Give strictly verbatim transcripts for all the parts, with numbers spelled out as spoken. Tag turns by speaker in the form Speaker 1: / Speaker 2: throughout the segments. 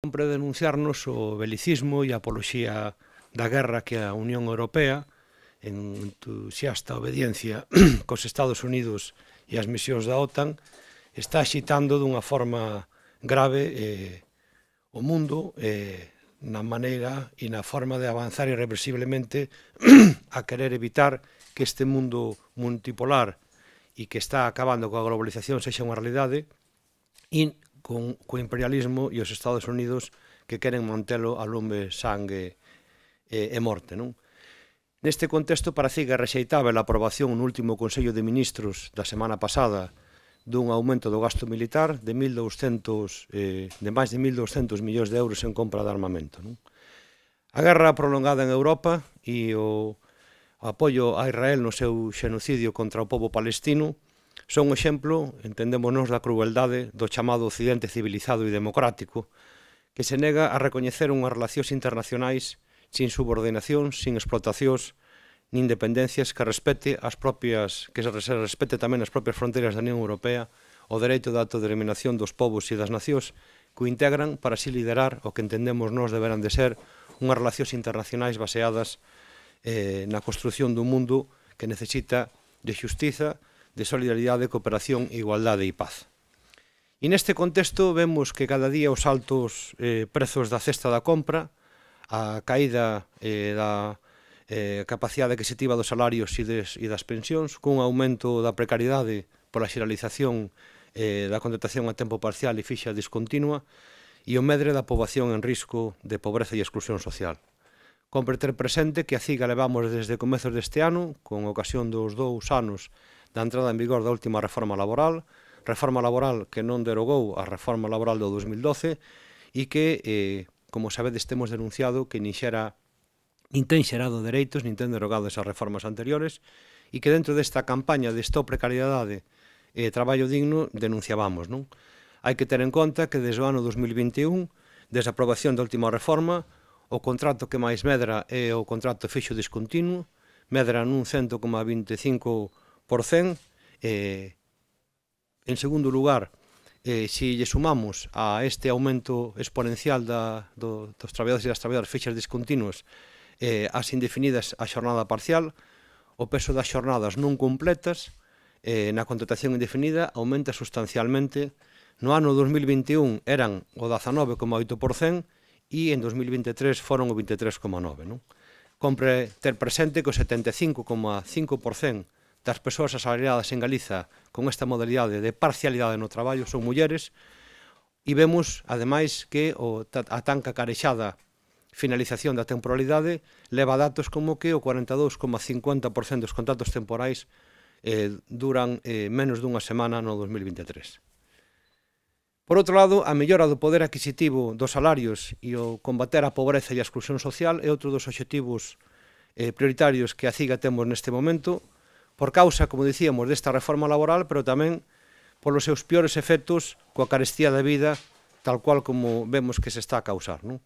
Speaker 1: Sempre denunciarnos o belicismo e a apoloxía da guerra que a Unión Europea, en entusiasta obediencia cos Estados Unidos e as misións da OTAN, está axitando dunha forma grave eh, o mundo eh, na maneira e na forma de avanzar irreversiblemente a querer evitar que este mundo multipolar e que está acabando coa globalización sexa unha realidade e con o imperialismo e os Estados Unidos que queren mantelo a lume, sangue e, e morte, non? Neste contexto parece que é rexeitável a aprobación no último Consello de Ministros da semana pasada dun aumento do gasto militar de, mil douscentos, eh, de máis de mil douscentos millóns de euros en compra de armamento, non? A guerra prolongada en Europa e o apoio a Israel no seu xenocidio contra o pobo palestino son un exemplo, entendémonos, da crueldade do chamado Occidente civilizado e democrático, que se nega a recoñecer unhas relacións internacionais sin subordinación, sin explotacións, nin dependencias, que respete as propias, que se respete tamén as propias fronteiras da Unión Europea, o dereito de autodeterminación dos povos e das nacións que o integran para así liderar o que entendemos nós deberán de ser unhas relacións internacionais baseadas eh, na construción dun mundo que necesita de xustiza, de solidaridade, cooperación, igualdade e paz. E neste contexto vemos que cada día os altos eh, prezos da cesta da compra, a caída eh, da eh, capacidade adquisitiva dos salarios e, des, e das pensións, cun aumento da precariedade pola xeralización eh, da contratación a tempo parcial e fixa discontinua e o medre da poboación en risco de pobreza e exclusión social. Compre ter presente que a CIGA levamos desde comezos deste ano, con ocasión dos dous anos da entrada en vigor da última reforma laboral, reforma laboral que non derogou a reforma laboral do dos mil doce e que, eh, como sabedes, temos denunciado que nin xera nin ten xerado dereitos, nin ten derogado esas reformas anteriores e que dentro desta campaña de stop precariedade e traballo digno denunciábamos, non? Hai que ter en conta que desde o ano dos mil vinte e un, desde a aprobación da última reforma, o contrato que máis medra é o contrato fixo discontinuo, medra nun cento coma vinte e cinco por cento. Eh, en segundo lugar, eh, se lle sumamos a este aumento exponencial da, do, dos traballadores e das traballadoras fixas discontinuos eh, as indefinidas a xornada parcial, o peso das xornadas non completas eh, na contratación indefinida aumenta sustancialmente. No ano dos mil vinte e un eran o dezanove coma oito por cento e en dos mil vinte e tres foron o vinte e tres coma nove por cento. Non? Compre ter presente que o setenta e cinco coma cinco por cento das persoas asalariadas en Galiza con esta modalidade de parcialidade no traballo son mulleres e vemos, ademais, que o, a tan cacarexada finalización da temporalidade leva datos como que o cuarenta e dous coma cincuenta por cento dos contratos temporais eh, duran eh, menos dunha semana no dos mil vinte e tres. Por outro lado, a mellora do poder adquisitivo dos salarios e o combater a pobreza e a exclusión social é outro dos obxectivos eh, prioritarios que a CIGA temos neste momento, por causa, como dicíamos, desta reforma laboral, pero tamén polos seus piores efectos coa carestía da vida, tal cual como vemos que se está a causar, non?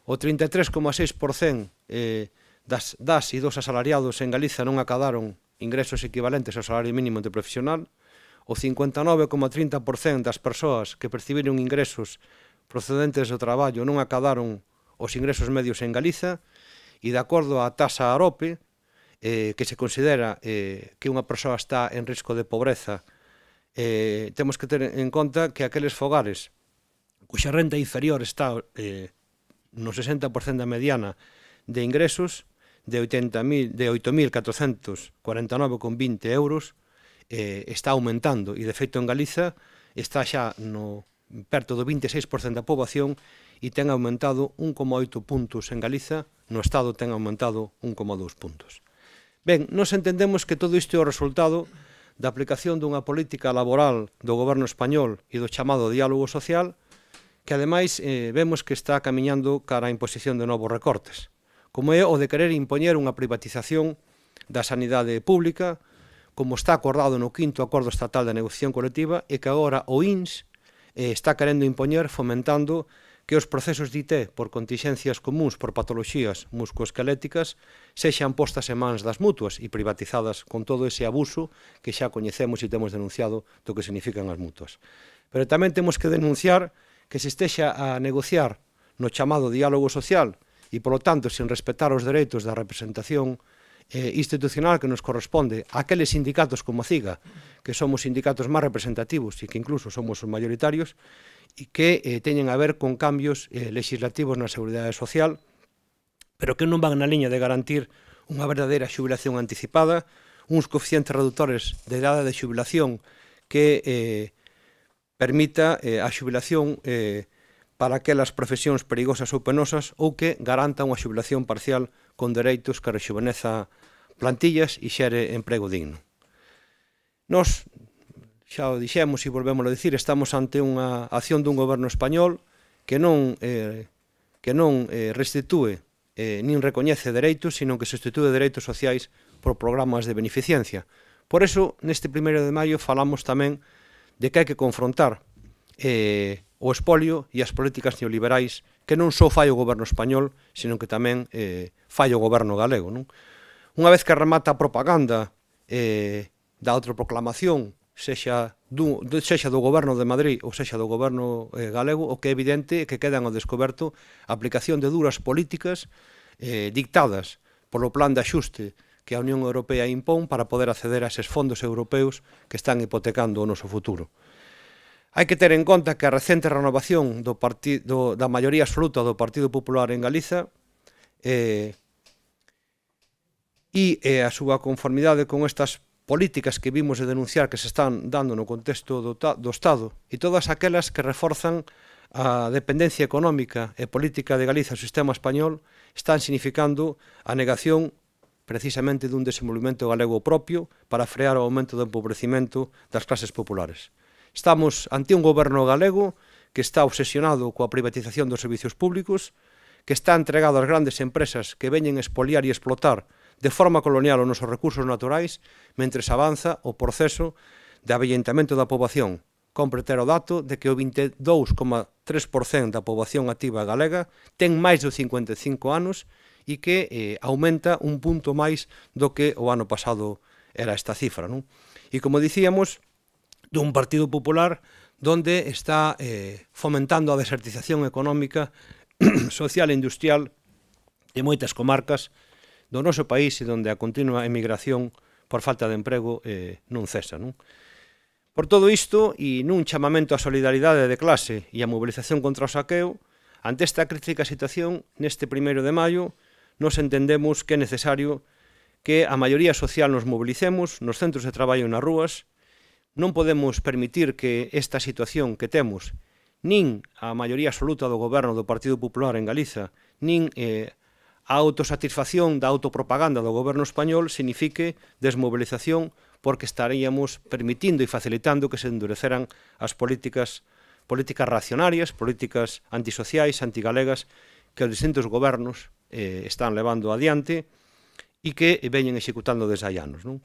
Speaker 1: O trinta e tres coma seis por cento eh, das, das e dos asalariados en Galiza non acadaron ingresos equivalentes ao salario mínimo interprofesional, o cincuenta e nove coma trinta por cento das persoas que percibiron ingresos procedentes do traballo non acadaron os ingresos medios en Galiza e, de acordo á taxa AROPE, eh, que se considera eh, que unha persoa está en risco de pobreza, eh, temos que ter en conta que aqueles fogares cuxa renta inferior está eh, no sesenta por cento da mediana de ingresos de, de oito mil catrocentos cuarenta e nove coma vinte euros eh, está aumentando e, de feito, en Galiza está xa no, perto do vinte e seis por cento da poboación e ten aumentado un coma oito puntos en Galiza, no Estado ten aumentado un coma dous puntos. Ben, nos entendemos que todo isto é o resultado da aplicación dunha política laboral do goberno español e do chamado diálogo social, que ademais eh, vemos que está camiñando cara á imposición de novos recortes, como é o de querer impoñer unha privatización da sanidade pública, como está acordado no quinto acordo estatal de negociación colectiva e que agora o I N S eh, está querendo impoñer fomentando que os procesos de I T por contingencias comuns por patoloxías muscoesqueléticas sexan postas en mans das mutuas e privatizadas con todo ese abuso que xa coñecemos e temos denunciado do que significan as mutuas. Pero tamén temos que denunciar que se estexa a negociar no chamado diálogo social e, polo tanto, sen respetar os dereitos da representación eh, institucional que nos corresponde a aqueles sindicatos como a CIGA, que somos sindicatos máis representativos e que incluso somos os mayoritarios, e que eh, teñen a ver con cambios eh, legislativos na seguridade social, pero que non van na liña de garantir unha verdadeira xubilación anticipada, uns coeficientes reductores de idade de xubilación que eh, permita eh, a xubilación eh, para aquelas profesións perigosas ou penosas ou que garanta unha xubilación parcial con dereitos que rexuveneza plantillas e xere emprego digno. Nos, xa o dixemos e volvemos a dicir, estamos ante unha acción dun goberno español que non, eh, que non eh, restitúe eh, nin recoñece dereitos, sino que substitúe dereitos sociais por programas de beneficencia. Por eso, neste primeiro de maio, falamos tamén de que hai que confrontar eh, o espolio e as políticas neoliberais que non só fai o goberno español, sino que tamén eh, fai o goberno galego. Non? Unha vez que remata a propaganda eh, da autoproclamación, sexa do, sexa do goberno de Madrid ou sexa do goberno eh, galego, o que é evidente é que quedan ao descoberto a aplicación de duras políticas eh, dictadas polo plan de axuste que a Unión Europea impón para poder acceder a eses fondos europeos que están hipotecando o noso futuro. Hai que ter en conta que a recente renovación do partido, da maioría absoluta do Partido Popular en Galiza eh, e eh, a súa conformidade con estas políticas que vimos de denunciar que se están dando no contexto do, do Estado e todas aquelas que reforzan a dependencia económica e política de Galiza ao sistema español están significando a negación precisamente dun desenvolvemento galego propio para frear o aumento do empobrecimento das clases populares. Estamos ante un goberno galego que está obsesionado coa privatización dos servicios públicos, que está entregado ás grandes empresas que veñen expoliar e explotar de forma colonial os nosos recursos naturais, mentres avanza o proceso de avellentamento da poboación. Compre ter o dato de que o vinte e dous coma tres por cento da poboación activa galega ten máis de cincuenta e cinco anos e que eh, aumenta un punto máis do que o ano pasado era esta cifra. Non? E como dicíamos, dun Partido Popular donde está eh, fomentando a desertización económica, social e industrial de moitas comarcas do noso país e donde a continua emigración por falta de emprego eh, non cesa. Non? Por todo isto, e nun chamamento á solidaridade de clase e a mobilización contra o saqueo, ante esta crítica situación, neste primeiro de maio, nos entendemos que é necesario que a maioría social nos mobilicemos nos centros de traballo e nas rúas. Non podemos permitir que esta situación que temos, nin a maioría absoluta do goberno do Partido Popular en Galiza, nin eh, a autosatisfacción da autopropaganda do goberno español signifique desmobilización porque estaríamos permitindo e facilitando que se endureceran as políticas, políticas reaccionarias, políticas antisociais, antigalegas, que os distintos gobernos eh, están levando adiante e que veñen executando desde hai anos. Non?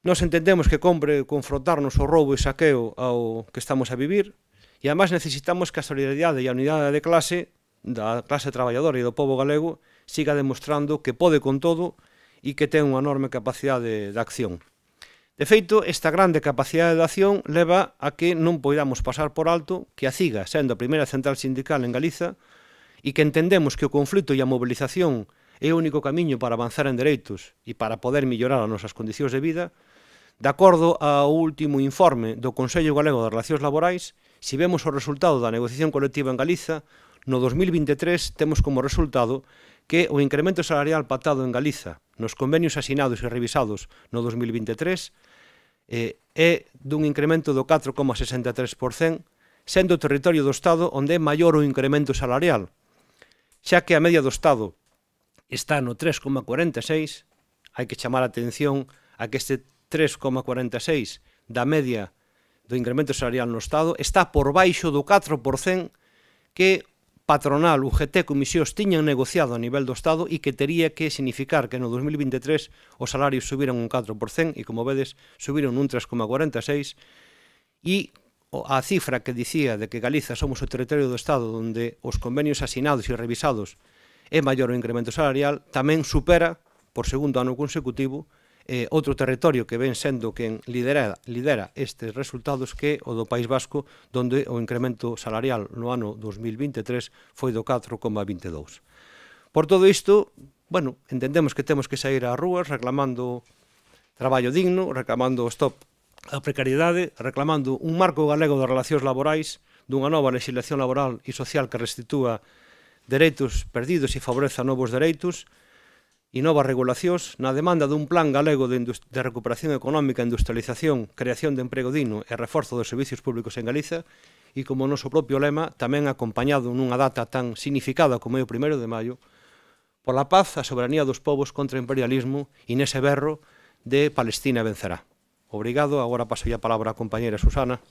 Speaker 1: Nos entendemos que compre confrontarnos o roubo e saqueo ao que estamos a vivir e además necesitamos que a solidaridade e a unidade de clase da clase traballadora e do povo galego siga demostrando que pode con todo e que ten unha enorme capacidade de acción. De feito, esta grande capacidade de acción leva a que non poidamos pasar por alto que a CIGA, sendo a primeira central sindical en Galiza, e que entendemos que o conflito e a mobilización é o único camiño para avanzar en dereitos e para poder mellorar as nosas condicións de vida, de acordo ao último informe do Consello Galego de Relacións Laborais, se vemos o resultado da negociación colectiva en Galiza, no dos mil vinte e tres temos como resultado que o incremento salarial pactado en Galiza nos convenios asinados e revisados no dos mil vinte e tres eh, é dun incremento do catro coma sesenta e tres por cento, sendo o territorio do Estado onde é maior o incremento salarial, xa que a media do Estado está no tres coma cuarenta e seis, hai que chamar a atención a que este tres coma cuarenta e seis da media do incremento salarial no Estado está por baixo do catro por cento que patronal, U G T e Comisións tiñan negociado a nivel do Estado e que tería que significar que no dos mil vinte e tres os salarios subiran un catro por cento e, como vedes, subiron un tres coma cuarenta e seis e a cifra que dicía de que Galiza somos o territorio do Estado onde os convenios asinados e revisados é maior o incremento salarial tamén supera, por segundo ano consecutivo, eh, outro territorio que ven sendo quen lidera, lidera estes resultados que o do País Vasco, donde o incremento salarial no ano dos mil vinte e tres foi do catro coma vinte e dous. Por todo isto, bueno, entendemos que temos que sair ás rúas reclamando traballo digno, reclamando stop a precariedade, reclamando un marco galego de relacións laborais, dunha nova legislación laboral e social que restitúa dereitos perdidos e favoreza novos dereitos, e novas regulacións na demanda dun plan galego de, de recuperación económica, industrialización, creación de emprego digno e reforzo dos servicios públicos en Galiza, e como o noso propio lema, tamén acompañado nunha data tan significada como é o primeiro de maio, pola paz, a soberanía dos povos contra o imperialismo e nese berro de Palestina vencerá. Obrigado, agora paso a palabra á compañera Susana.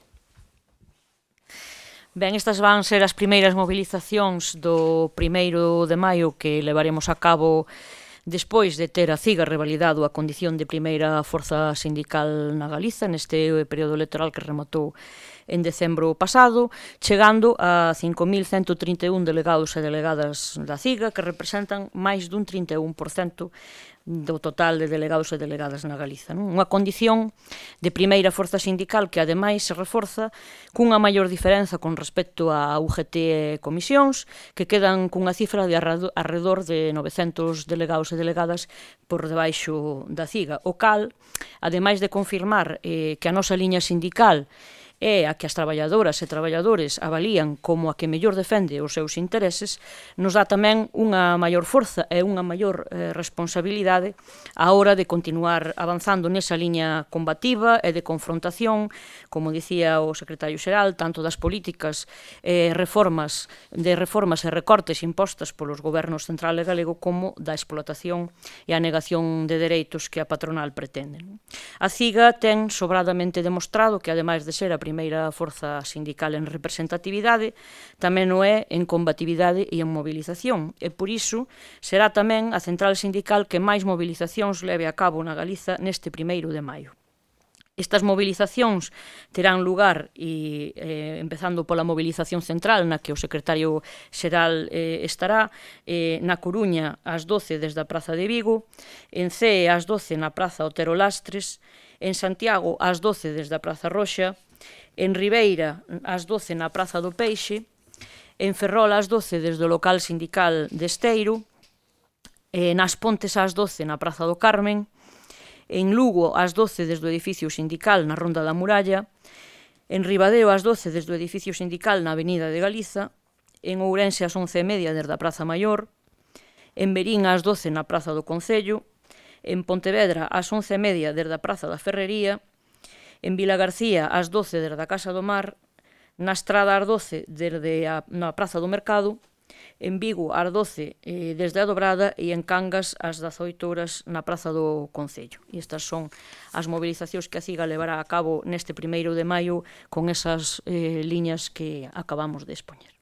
Speaker 2: Ben, estas van ser as primeiras movilizacións do primeiro de maio que levaremos a cabo despois de ter a CIGA revalidado a condición de primeira forza sindical na Galiza neste período electoral que rematou en decembro pasado, chegando a cinco mil cento trinta e un delegados e delegadas da CIGA que representan máis dun trinta e un por cento do total de delegados e delegadas na Galiza. Non? Unha condición de primeira forza sindical que ademais se reforza cunha maior diferenza con respecto a U G T e comisións que quedan cunha cifra de arredor de novecentos delegados e delegadas por debaixo da CIGA, o cal, ademais de confirmar eh, que a nosa liña sindical é a que as traballadoras e traballadores avalían como a que mellor defende os seus intereses, nos dá tamén unha maior forza e unha maior eh, responsabilidade á hora de continuar avanzando nesa liña combativa e de confrontación, como dicía o secretario xeral, tanto das políticas eh, reformas, de reformas e recortes impostas polos gobernos central e galego como da explotación e a negación de dereitos que a patronal pretende. A CIGA ten sobradamente demostrado que, ademais de ser a primeira forza sindical en representatividade, tamén o é en combatividade e en movilización, e por iso será tamén a central sindical que máis movilizacións leve a cabo na Galiza neste primeiro de maio. Estas movilizacións terán lugar, e, eh, empezando pola movilización central, na que o secretario xeral eh, estará, eh, na Coruña ás doce desde a Praza de Vigo, en Cee ás doce na Praza Otero Lastres, en Santiago ás doce desde a Praza Roxa, en Ribeira ás doce na Praza do Peixe, en Ferrol ás doce desde o local sindical de Esteiro, nas Pontes ás doce na Praza do Carmen, en Lugo ás doce desde o edificio sindical na Ronda da Muralla, en Ribadeo ás doce desde o edificio sindical na Avenida de Galiza, en Ourense ás once e media desde a Praza Maior, en Verín ás doce na Praza do Concello, en Pontevedra ás once e media desde a Praza da Ferrería, en Vilagarcía ás doce desde a Casa do Mar, na Estrada ás doce desde a na Praza do Mercado, en Vigo ás doce eh, desde a Dobrada e en Cangas ás dezaoito horas na Praza do Concello. E estas son as movilizacións que a CIGA levará a cabo neste primeiro de maio con esas eh, liñas que acabamos de expoñer.